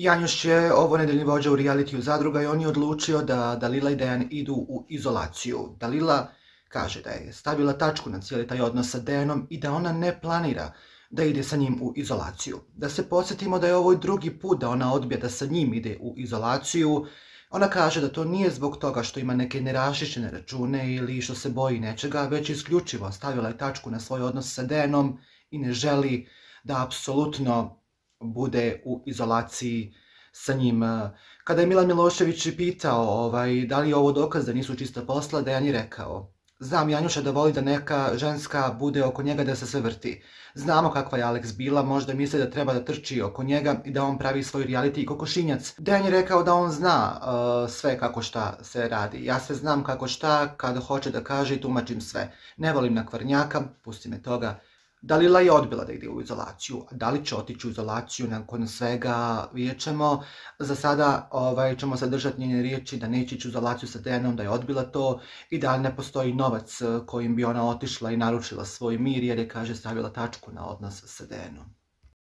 Janjuš je ovo nedeljni vođa u realitiju Zadruga i on je odlučio da Dalila i Dejan idu u izolaciju. Dalila kaže da je stavila tačku na cijeli taj odnos sa Dejanom i da ona ne planira da ide sa njim u izolaciju. Da se podsjetimo da je ovo drugi put da ona odbija da sa njim ide u izolaciju. Ona kaže da to nije zbog toga što ima neke neraščišćene račune ili što se boji nečega, već isključivo stavila je tačku na svoj odnos sa Dejanom i ne želi da apsolutno bude u izolaciji sa njim. Kada je Milan Milošević pitao da li je ovo dokaz da nisu čista posla, Dejan je rekao: znam Janjuša da voli da neka ženska bude oko njega, da se sve vrti. Znamo kakva je Alex bila, možda misli da treba da trči oko njega i da on pravi svoj reality kokošinjac. Dejan je rekao da on zna sve kako šta se radi. Ja sve znam kako šta, kada hoće da kaže i tumačim sve. Ne volim nakvarnjaka, pusti me toga. Dalila je odbila da ide u izolaciju. Da li će otići u izolaciju nakon svega, vidjet ćemo. Za sada ćemo sadržati njene riječi da neće ići u izolaciju sa Dejanom, da je odbila to i da ne postoji novac kojim bi ona otišla i naručila svoj mir jer je, kaže, stavila tačku na odnos sa Dejanom.